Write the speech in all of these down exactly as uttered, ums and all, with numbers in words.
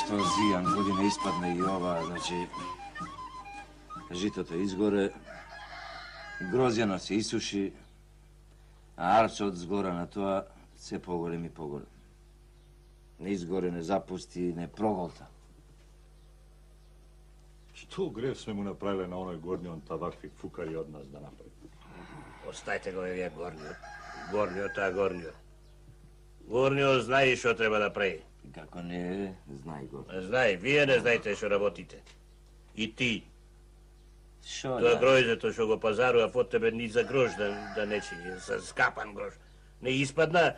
Што зијан година испадна и ова, значи... Житото изгоре, грозјано се исуши, а арчот згора на тоа се поголем и поголем. Не изгоре, не запусти, не проголта. Што грев сме му направиле на оној горниот тавакви фукари од нас да направи? Остајте го евија горниот. Горниот, а горниот. Горниот знае што треба да прави. Како не, знај го. Знај, вие не знаете што работите. И ти. Шо Тоа да? гројзето што го пазарува од тебе ни за грош да, да не чини, за скапан грош. Не испадна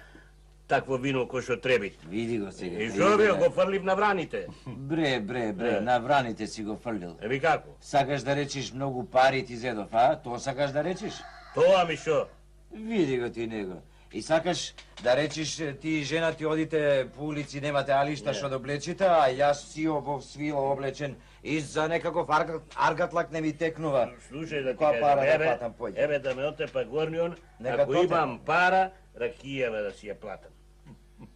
такво вино кој што требит. Види го сега. И што би го фрлив на враните? Бре, бре, бре, на враните си го фрлил. Еби како? Сакаш да речиш многу пари ти зедов, а? Тоа сакаш да речиш? Тоа ми што? Види го ти него. И сакаш да речиш ти и жена ти одите по улици, немате алишта што да облечите, а јас си во свило облечен и за некаков аргат, аргатлак не ми текнува. Слушај да ти Која пара кажам, да еве, платам поќе? еве да ме отепа горнион, Нека ако тоте. имам пара, ракијава да си ја платам.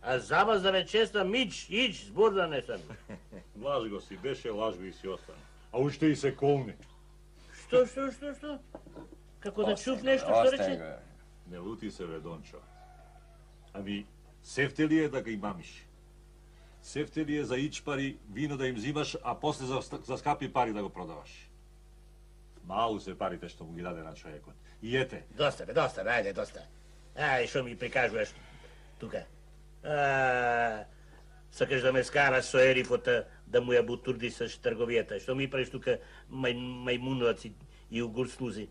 А за вас да ве честам, ич, ич, збор да не сам. Лаж го си беше, лаж го и си остана. А уште и се колни. Што, што, што, што? Како да чув нешто што рече? Не лути се, бе, Дончо. Ами, сефте ли е да га имамиш? Сефте ли е за ич пари вино да им взимаш, а после за, за скапи пари да го продаваш? Малу се парите што му ги даде на човекот. И ете. Доста, бе, доста, бе, ајде, доста. Ај, што ми прикажуваш тука? А, сакаш да ме скараш со ерифота да му ја бутурди со трговијата. Што ми правиш тука мај, мајмуноваци и, и угурснузи?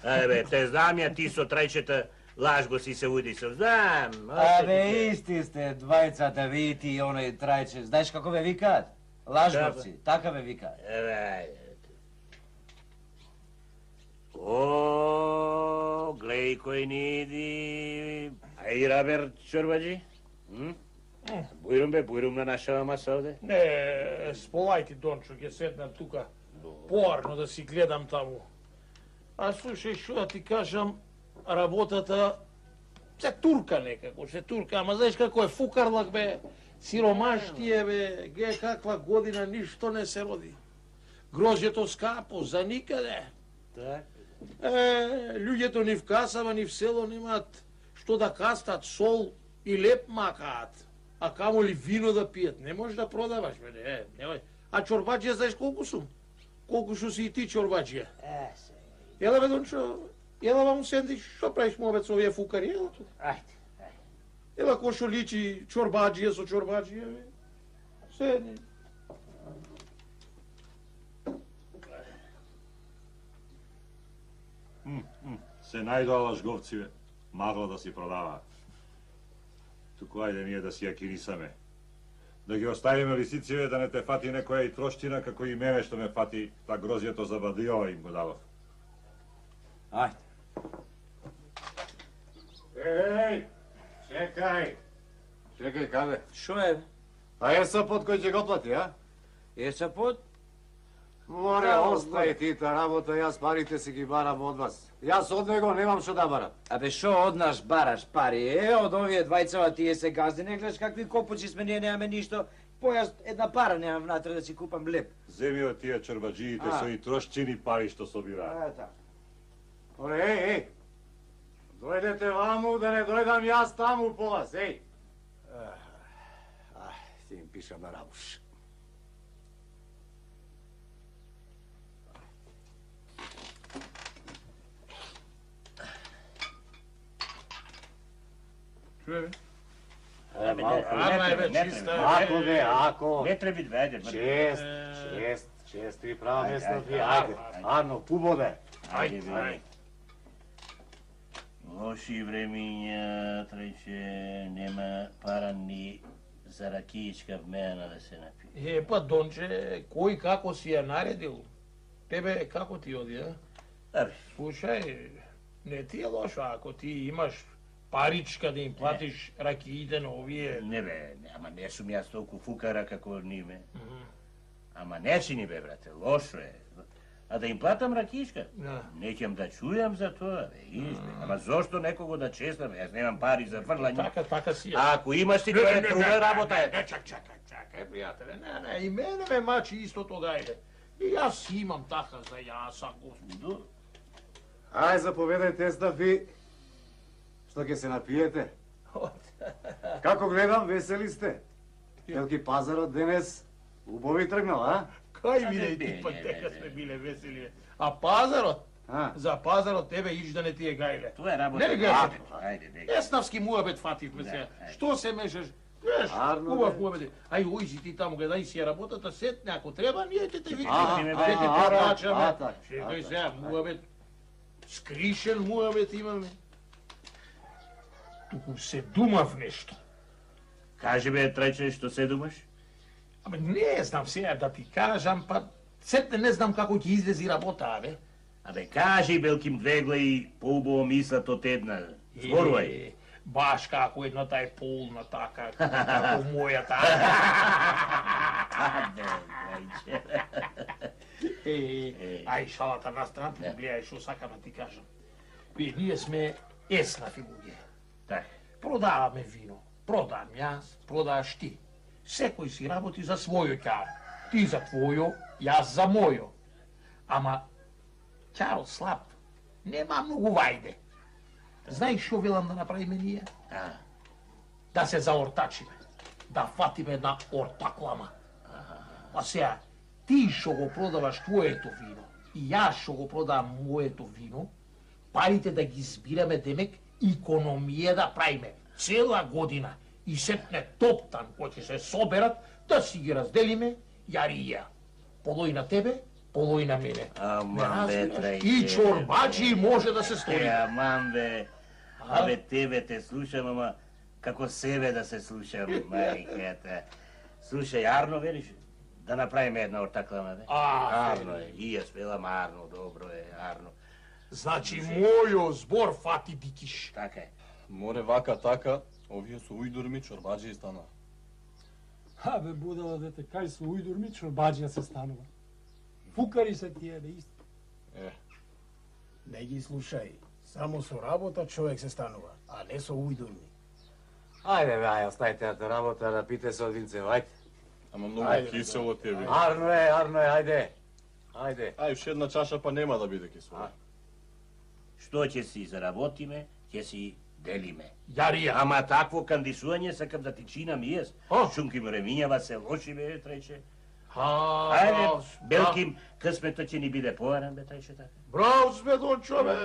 Ајде, бе, те знам ја ти со трајчета лаж го си се уди со. Знам. Абе, исти сте, двајцата, ви ти и оној трајче. Знаеш како ве викаат? Лажговци, така ве викаат. Еве, ајде. О, глеј кој ни иди. Ај, Рабер Чорбаджи? Бујрум бе, бујрум на нашава маса овде? Не, сполајте, Дончо, ќе седнам тука поарно да си гледам таму. А слушај, што да ти кажам, работата се турка некако, се турка, ама знаеш како е фукарлак, бе, сиромаштие, бе, ге каква година, ништо не се роди. Грозјето скапо, за никаде. Так. Е, луѓето ни в касава, ни в село немаат што да кастат, сол и леп макаат. А камо ли вино да пијат, не можеш да продаваш, бе, не, немој. А чорбаџија знаеш колку сум? Колку што си и ти чорбаџија? Е, се. Ела, бе, Дончо, ела вам сендиш, што правиш му обед со овие фукари, ела тука. Ајде, ајде. Ела кој што личи чорбаџија со чорбаџија, бе. Седни. М, м, се најдоа лажговци, бе. Магло да си продава. Туку ајде ние да си ја кирисаме. Да ги оставиме лисиците, да не те фати некоја и трошчина, како и мене што ме фати та грозјето за бадио им го дадов. Ајде. Еј, чекај. Чекај, каде? Шо е? А е сапот кој ќе го плати, а? Е сапот? Море, Да, остај ти та работа, јас парите си ги барам од вас. Јас од него немам што да барам. Абе, шо од нас бараш пари? Е, од овие двајцава тие се газди, не гледаш какви копучи сме, ние немаме ништо. Појас една пара немам внатре да си купам леп. Земи од тие чорбаџиите А. со и трошчини пари што собираат. Е, така. Море, еј, еј. Дојдете ваму да не дојдам јас таму по вас, еј. Ах, ќе им пишам на рабуш. Чуе, Абе, не, Ама е, бе, не чиста, треба. Ако бе, ако. Не треба да ајде. Чест, чест, чест, ви права Ајде, место ајде, ви, ајде, ајде. ајде. Ано, пубоде. Ајде, ајде. Лоши времиња, трајче, нема пара ни за ракијичка вмена да се напие. Е, па, Донче, кој како си ја наредил? Тебе како ти оди, а? Абе, Слушај, не ти е лошо ако ти имаш паричка да им платиш ракиите на овие. не бе, не, ама не сум јас толку фукара како ниме. Ама не си ни бе, брате, лошо е. А да им платам ракишка? Да. Неќам да чујам за тоа, бе, избе. Ама зошто некого да честам? Јас немам пари за фрлање. Така, така си е. А ако имаш ти, тоа е друга работа. Не, чак, чакај, чакај, пријателе, не, не, и мене ме мачи истото гајле. И јас имам така за јаса, господу. Ај, заповедајте, Естаф, и што ќе се напиете? Како гледам, весели сте? Елки пазарот денес убави тргнал, а? Кај биде и ти пат дека сме биле весели. А пазарот? А? За пазарот тебе иш да не ти е гајле. Тоа е работа. Не гајле. Ајде, бега. Еснавски муабет фативме се. Што се мешаш? Веш, Арно, убав бе. муабет. Ај, ој си ти таму, гледај си ја работата, сетне, ако треба, ние ќе те А, викаме, а, ќе те а, порачаме. а, така, Чекај а, сега, муабет, скришен муабет имаме. Туку се думав нешто. Кажи бе, трајче, што се думаш? Абе, не знам сега да ти кажам, па сетне не знам како ќе излези работа, бе. Абе, кажи, Белким Двегле, и поубаво мислат од една. Зборувај. Е, баш како едната е полна така, како мојата. Абе, трајче. Е, ај шалата на страна, гледај што сакам да ти кажам. Ви, ние сме еснафи луѓе. Така. Продаваме вино. Продам јас, продаш ти. Секој си работи за својо ќаро. Ти за твојо, јас за мојо. Ама, ќаро слаб, нема многу вајде. Знаеш што велам да направиме ние? А, Да се заортачиме. Да фатиме една ортаклама. А сега, ти што го продаваш твоето вино и јас што го продавам моето вино, парите да ги збираме, демек, икономија да правиме цела година и сетне топтан кој ќе се соберат, да си ги разделиме, јари и ја. Полој на тебе, полој на мене. Аман, Не бе, разбираш? трајче. И чорбаджи може да се е, стори. аман, бе. Абе, тебе те слушам, ама како себе да се слушам, мајката. Слушај, Арно, велиш? Да направиме една ортаклама, бе? А, Арно е. И јас велам Арно, добро е, Арно. Значи, мојо збор фати дикиш. Така е. Море вака така, овие со ујдурми чорбаджи и станаа. Абе, будала дете, кај со ујдурми чорбаджија се станува. Фукари се тие, бе, исто. Е, Не ги слушај. Само со работа човек се станува, а не со ујдурми. Ајде, бе, ај, оставите на работа, да пите се од винце, ајде. ама многу Ајде, кисело ти е вино. Арно е, арно е, ајде. Ајде. Ај, уште една чаша па нема да биде кисело. Што ќе си заработиме, ќе си делиме. Јарија. Ама такво кандисување сакам да ти чинам и јас. А? Шунки му ремињава се лоши, бе, трајче. А, Ајде, браво, Белким, късмето ќе ни биде поаран, бе, трајче така. Браво сме, Дончо, бе.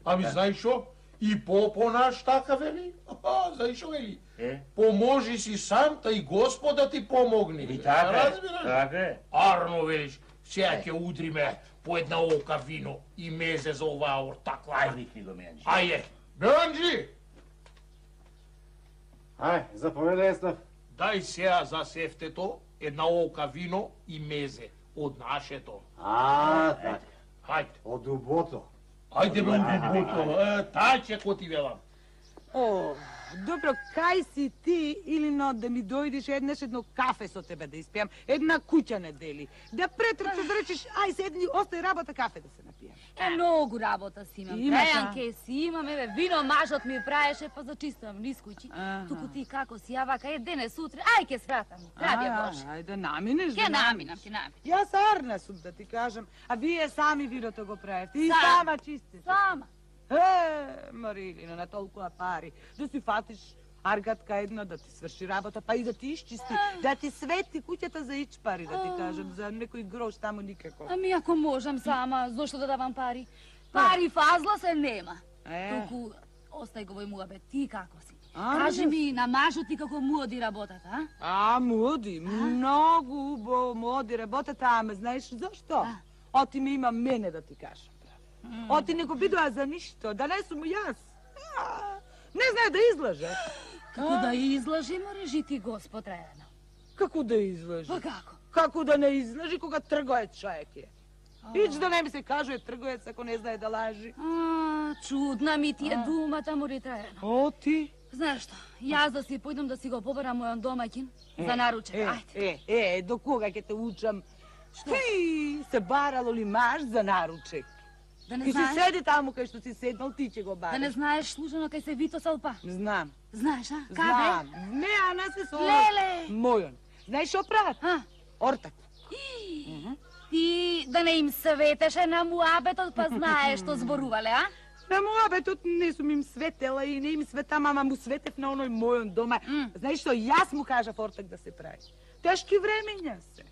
Ами знаеш што? И Попо наш така вели. А, знаеш што вели? Е? Поможи си сам, та и Господ да ти помогне. И така е, Разбираш? така е. Арно велиш, сега ќе удриме по една ока вино и мезе за оваа ортакла. Ај, викни го Менџи. Ајде, Менџи, Ај, заповедај, Естаф. дај сега за сефтето една ока вино и мезе од нашето. А, така. Хајде, Од дубото. ајде бе, убото, тај ќе ко ти велам. О, добро, кај си ти или но да ми дојдеш еднаш едно кафе со тебе да испијам, една куќа не дели. Да претрчаш да речеш, ај седни, остај работа кафе да се напијам. Е, многу работа си имам. Имаш, а? Пејанке си имам, еве, вино мажот ми праеше, па зачистам низ куќи. Аха. Туку ти како си, ја вака, е денес, утре, ај ке свратам, ради Боже. Ај, да наминеш, Ке да наминам, ке наминам. Јас арна сум да ти кажам, а вие сами виното го правите и Сам. сама чистите. Сама. Е, Марилина, на толкова пари, да си фатиш аргатка една, да ти сврши работа, па и да ти изчисти, да ти свети куќата за ич пари, да ти кажам, за некој грош таму никако. Ами ако можам сама, зошто да давам пари? Пари фазла се нема. Е. Туку, остај го вој муабет, ти како си? А, Кажи да. ми, на мажот ти како му оди работата, а? А, моди, многу убаво моди работата, ама знаеш зашто? А. Оти ми има мене да ти кажам. Оти не го бидува за ништо, да не сум јас. А, не знае да излаже. Како да излажи, мореш и ти Господ редно. Како да излаже? Па како? Како да не излажи кога трговец човек е? Ич да не ми се кажува трговец ако не знае да лажи. А, чудна ми ти е думата, мори трајано. Оти? Знаеш што, јас да си појдам да си го побарам мојон домаќин за наручек, Е, ајде. е, е, до кога ќе те учам? Ти се барало ли маш за наручек? Да не Ки си знаеш, седи таму кај што си седнал, ти ќе го бараш. да не знаеш служено кај се Вито Салпа. Знам. Знаеш, а? Знам. Каде? Не, а не се со... Леле! Мојон. Знаеш што прават? А? Ортак. Ти да не им светеше на муабетот, па знаеш што зборувале, а? На муабетот не сум им светела и не им светам, ама му светев на оној мојон дома. Mm. Знаеш што, јас му кажав ортак да се прави. Тешки времења се.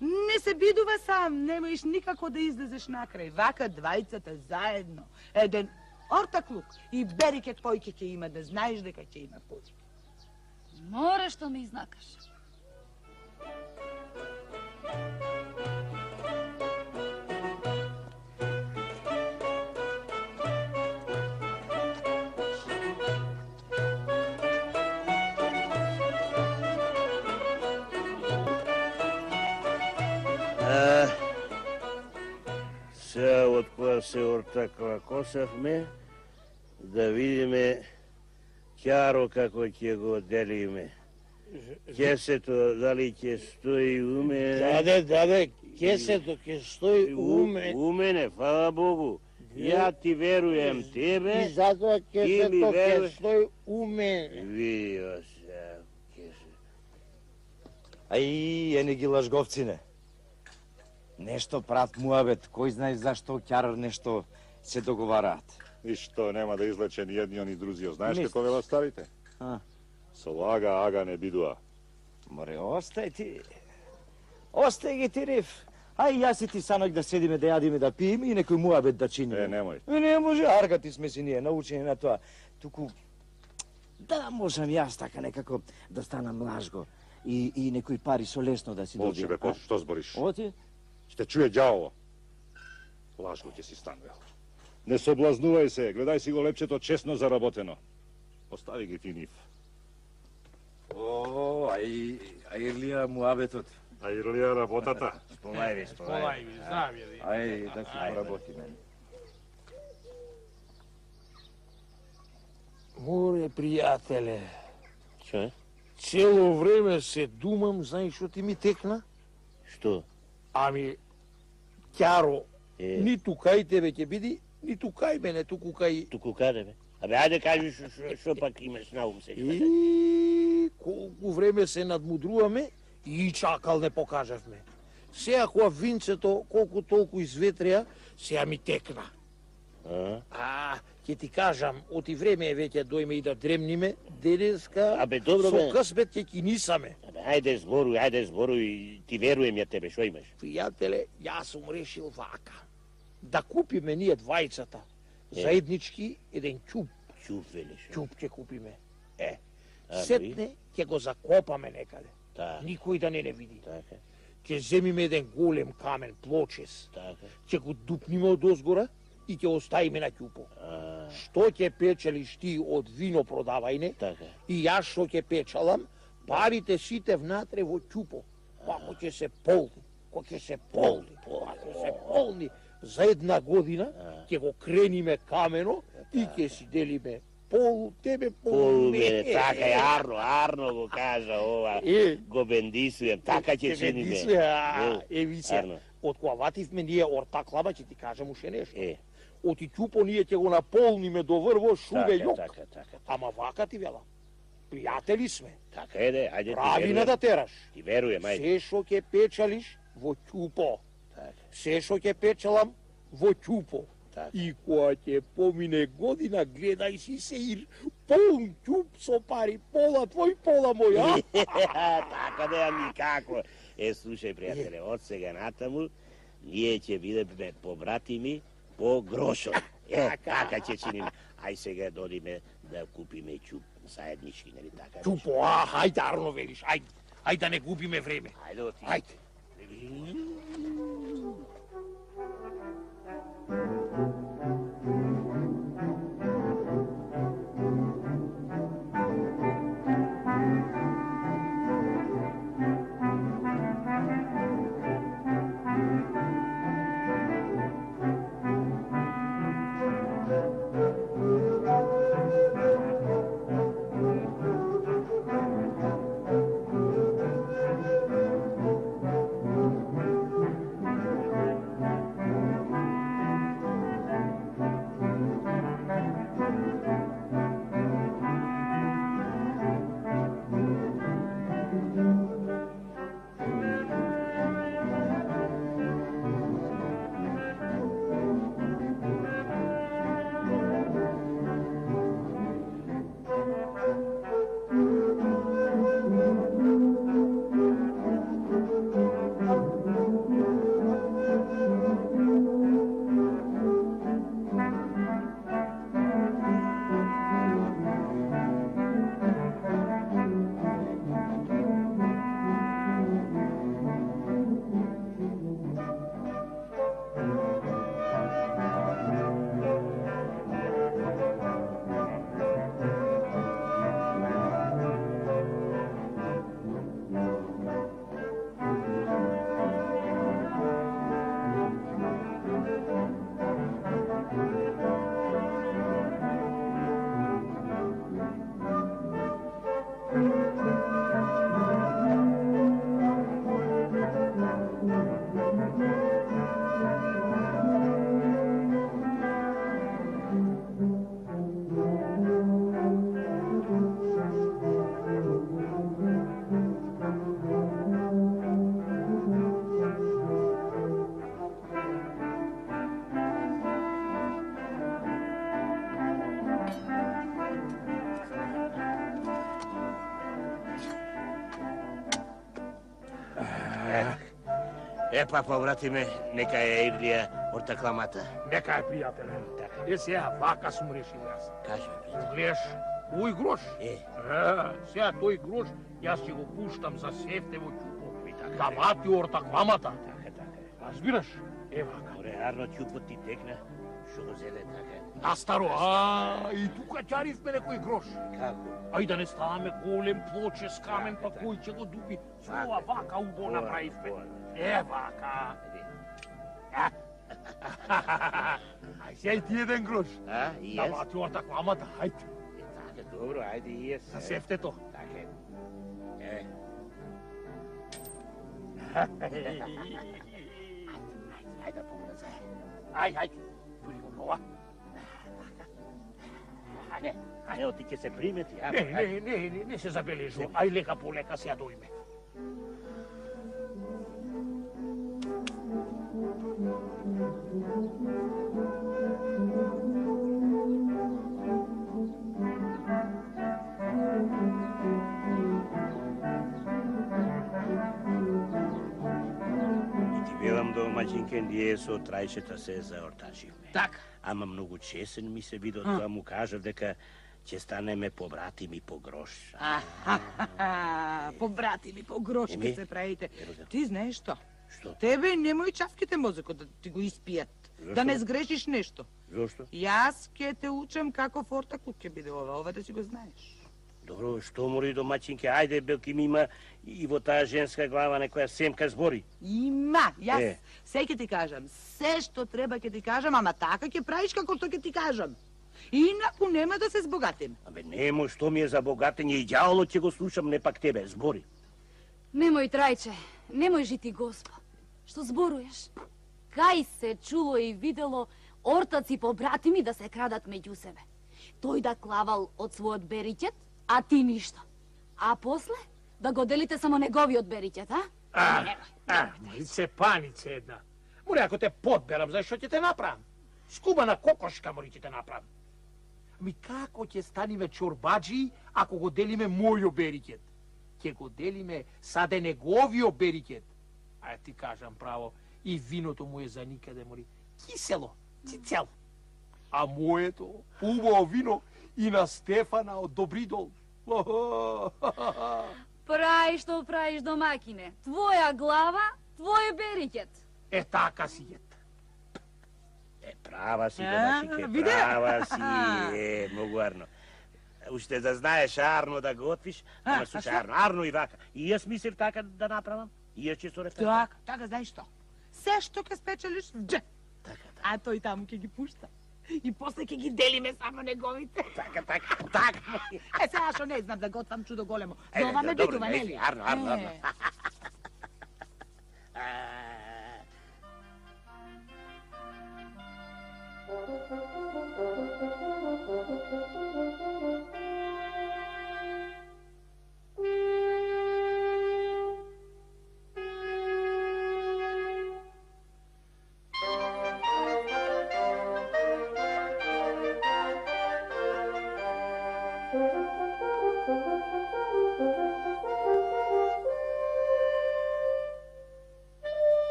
Не се бидува сам, не можеш никако да излезеш накрај. Вака двајцата заедно, еден ортаклук и берике појке ќе има, да знаеш дека ќе има појке. Море што ме изнакаш. Сега од која се ортакла косавме, да видиме Ќаро како ќе го делиме. Кесето дали ќе стои уме? Даде, даде, кесето ќе стои уме. Умене, фала Богу. Ја ти веруjem тебе. И затоа кесето ќе веруеш. стои уме. Видио се, кесето. Ај, е не ги лажговцине. Нешто прат муабет, кој знае зашто Ќар нешто се договараат. И што, нема да излече ни едниот ни другиот. Знаеш Мислиш? како велат старите? А? Со лага, ага не бидуа. Море, остај ти. Остај ги ти риф. Ај, јас и ти санок да седиме, да јадиме, да пиеме и некој муабет да чиниме. Е, немој. Е, не може, аргати сме си ние, научени на тоа. Туку, да можам јас така некако да станам лажго и, и некои пари со лесно да си добијам. Молчи бе, почи, што збориш? Оти? Ще чуе ѓаволо. Лажно ќе си станувал. Не соблазнувај се, гледај си го лепчето честно заработено. Остави ги ти нив. О, ај, ај Ирлија муабетот. А Ирлија работата? Сполај ви, сполај. Полај ви, знам ја. Ај, да си поработиме. Море, пријателе, Што е? цело време се думам, знаеш што ти ми текна? Што? Ами, Ќаро, Е. ниту кај тебе ќе биди, ниту кај мене, туку кај... Туку каде бе? Абе, ајде кажи што- што што пак имаш на ум сега. И колку време се надмудруваме и чакал не покажавме. Сега кога винцето колку толку изветрија, сега ми текна. А? А, ќе ти кажам, оти време е веќе дојме и да дремниме, денеска Абе, добро, со бе. късмет ќе кинисаме. Абе, ајде зборуј, ајде зборуј, ти веруjem ја тебе, што имаш? Пријателе, јас сум решил вака. Да купиме ние двајцата, Е. заеднички еден ќуп. Чуп, велиш. Ќуп ќе купиме. Е, А, сетне ќе го закопаме некаде. Така, Никој да не не види. така, Ќе земиме еден голем камен, плочес. така. Ќе го дупниме од озгора и ќе оставиме на ќупо. А, Што ќе печелиш ти од вино продавајне така. и јас што ќе печалам, парите сите внатре во ќупо. Ако ќе се полни, ако ќе се полни, ако ќе се полни, за една година ќе го крениме камено и ќе си делиме пол тебе, пол Полу мене. мене, така е, Арно, Арно го кажа ова. Е, Го бендисуjem, така ќе чиниме. Бендисуе, а, Е, Еви се, Арно. од кога вативме ние ортаклава, ќе ти кажам уште нешто. Е, Оти ќупо ние ќе го наполниме до врво шубе така, јок. така, така. Ама вака ти велам. Пријатели сме. Така е, де, ајде ти Прави на да веруjem. тераш. Ти веруjem, ајде. Се што ќе печалиш во ќупо. Така, Се што ќе печалам во ќупо. така. И кога ќе помине година, гледај си се ир, полн ќуп со пари, пола твој, пола мој, а? Така да ами како. Е, слушај, пријателе, од сега натаму, ние ќе бидеме побратими по грошот. Е, така ќе чиниме. Ај сега додиме да купиме ќуп заеднички, нели така? Ќупо, а, хајде, Арно велиш, ајде. Ајде да не губиме време. Ајде, оти. Ајде. Е, па, побратиме, нека е Ирлија ортакламата. Нека е, пријателе. Е, сега, вака сум решил јас. Кажи, пријател. Гледаш, овој грош. Е. Е, сега тој грош, јас ќе го пуштам за Сефтево ќупо. Да вати ортакламата. Така, така. Разбираш? Е, вака. Оре, арно ќупот ти текна, шо го зеле така. Настаро, а, и тука ќаривме некој грош. Како? Ај да не ставаме голем плоче с камен, па кој ќе го дуби. Ова вака убо направивме. Е, вака. Ај, сега и ти еден грош. А, и Да јас? вати ортакламата, ајде. Е, така, добро, ајде и јас. За Сефтето. Така е. Е. Ајде да помна заедно. Ај, ајде. Тури го нова. Не, не, оти ќе се примети. а, Не, ајде. не, не, не, не се забележува. Ај, лека по лека се ја дојме. И ти велам домаќинке, ние со трајчета се заортачивме. Така. Ама многу чесен ми се видо тоа, му кажав дека ќе станеме побратими по грош. Ахахаха, побратими по грошки Еми, се правите. ероза. Ти знаеш што? Што? Тебе немој чавките мозокот да ти го испијат. Зашто? Да не сгрешиш нешто. Зошто? Јас ќе те учам како фортакут ќе биде ова, ова да си го знаеш. Добро, што мори домаќинке, ајде белки ми има и во таа женска глава некоја семка збори. Има, јас Е. се ќе ти кажам, се што треба ќе ти кажам, ама така ќе правиш како што ќе ти кажам. Инаку нема да се збогатим. Абе, немо, што ми е за богатење и ѓаволот ќе го слушам, не пак тебе, збори. Немој, трајче, немој жити Госпо. Што зборуваш? Кај се чуло и видело ортаци побратими да се крадат меѓу себе. Тој да клавал од својот бериќет, а ти ништо. А после да го делите само неговиот бериќет, а? А, а, се панице една. Море, ако те подберам, знаеш што ќе те направам? Скубана кокошка мори ќе те направам. Ми како ќе станиме чорбаджи ако го делиме мојо бериќет? Ќе го делиме саде неговио бериќет. А ти кажам право, и виното му е за никаде мори. Кисело, цицел. А моето, убаво вино и на Стефана од Добридол. Прај што правиш, домакине. Твоја глава, твој бериќет. Е така си ет. Е, права си, А, домаќинке, виде? права си, е, многу арно. Уште да знаеш арно да готвиш, А, ама а слушај што? арно, арно и вака. И јас мислев така да направам, и јас ќе со референт. Така, така, знаеш што? Се што ќе спечелиш, дже. Така, така. А тој таму ќе ги пушта. И после ќе ги делиме само неговите. Така, така, така. Е, сега што не знам да готвам чудо големо. Е, За ова ме добро, бидува, не, нели? арно, арно, арно. Е. А,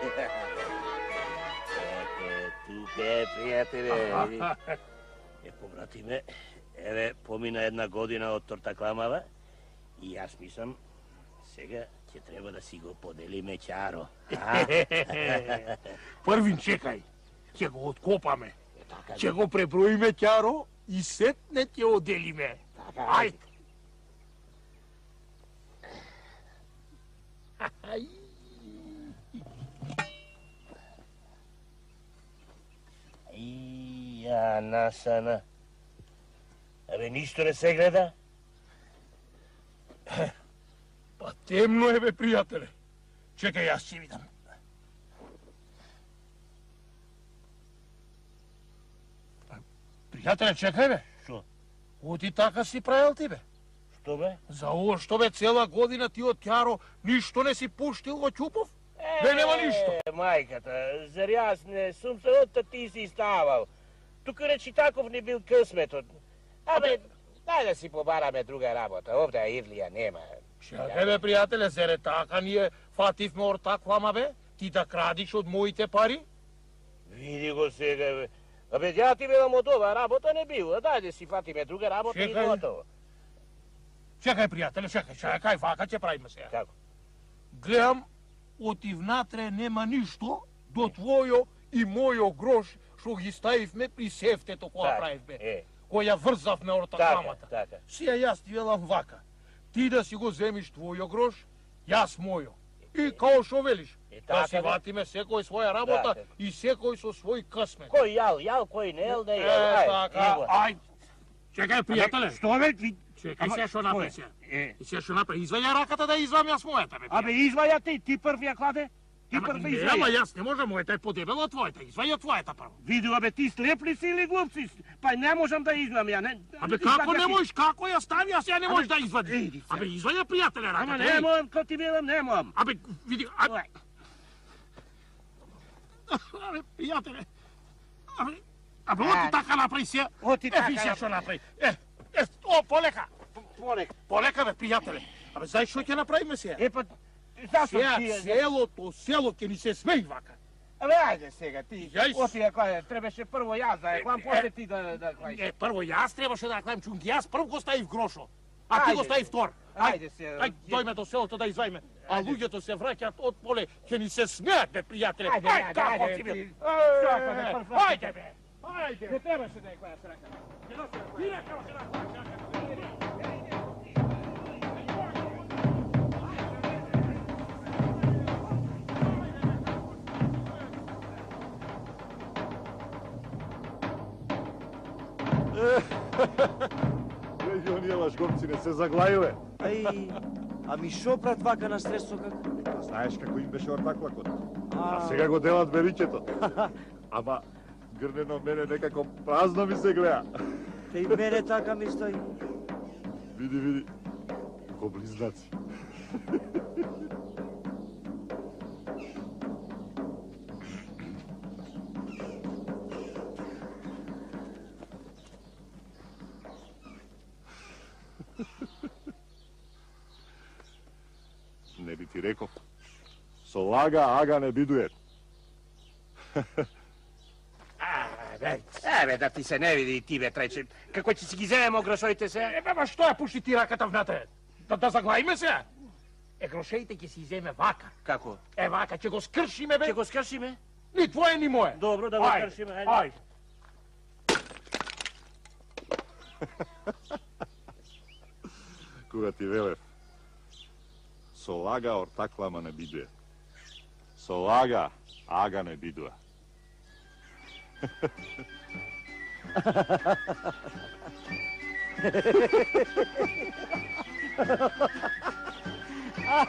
Ете, тука е, пријателе. Е, побратиме, еве, помина една година од тортакламава и јас мислам, сега ќе треба да си го поделиме ќаро. Првин чекај, ќе го откопаме. Така, Ќе го преброиме ќаро и сетне ќе оделиме. Така, Ајде. Ај. И Ја насана. Абе, ништо не се гледа? Па темно е, бе, пријателе. Чекај, јас ќе видам. Пријателе, чекај, бе. Што? Оти така си правил ти, бе. Што, бе? За ово што, бе, цела година ти од Ќаро ништо не си пуштил во Ќупов? Бе, нема ништо. Е, мајката, зар јас не сум се од ти си ставал. Тука речи таков не бил късметот. Абе, дај да си побараме друга работа. Овде Ирлија нема. Чекај, бе, пријателе, зере така ние фативме ортаклама, бе? Ти да крадиш од моите пари? Види го сега, бе. Абе, ја ти велам од ова работа не била. Дај да си фатиме друга работа и готово. Чекај, пријателе, чекај, чекај, вака ќе правиме сега. Како? Гледам, оти внатре нема ништо до твојо и мојо грош што ги ставивме при сефтето која правивме. Е. Која врзавме ортакламата. Така, така. Сија јас ти велам вака. Ти да си го земиш твојо грош, јас мојо. И као што велиш, да си ватиме секој своја работа и секој со свој късмет. Кој јал, јал, кој не јал, не јал. Е, така, ај. Чекај, пријателе. Што бе? Чекај се што направи се. И се што направи, изваја раката да извам јас мојата, бе. Абе, изваја ти, ти прв ја кладе? Ти прв да изваја. Ама јас не можам, мојата е подебела од твојата, изваја твојата прво. Виду, абе, ти слеп ли си или глуп си? Па не можам да извам ја, не... Абе, како не можеш, како ја стави, јас ја не можеш да извадиш. Абе, изваја пријателе раката. Ама не можам, ко ти велам, не можам. Абе, види, абе... Абе, пријателе, абе, абе, оти така направи се. Оти така. Е, ви се што направи. Е, е, о, полека. Полека. Полека, бе, пријателе. Абе, знаеш што ќе направиме сега? Е, па, зашто Сега ти... целото село ќе ни се смеи вака. Абе, ајде сега, ти. Јас- Оти ја кладе, требаше прво јас да ја клам, после ти да да кладеш. Е, прво јас требаше да клајм чунки, јас прв го ставив грошо, а ти Ајде. го стави втор. Ајде се. Ај, дојме до селото да извајме. А луѓето се враќаат од поле, ќе ни се смеат, бе, пријателе. Ајде, ајде, како ајде, ти бе. ти- Е, Шака, бе, прв рак. Ајде, бе. Ајде. Не требаше да ја кладеш рака. Директно се наклаќа. Леги, оние лажговци не се заглаиле. Ај, ами шо брат вака на стресо како? Па знаеш како им беше ортаклакот. А А, сега го делат великето. Ама грнено мене некако празно ми се гледа. те и мене така ми стои. Види, види. Ко близнаци. Не би ти реков. Со лага ага не бидуе. Абе, абе, да ти се не види и ти, бе, треće. Како ќе си ги земемо грошоите се? Е, бе, ма што ја пушти ти раката внатре? Да, да заглаиме се? Е, грошеите ќе си иземе вака. Како? Е, вака, ќе го скршиме, бе. Ќе го скршиме? Ни твое, ни мое. Добро, да го Ајде, скршиме, ајде. Ајде. Кога ти велев, со лага ортаклама не бидуе. Со лага ага не бидуа. А,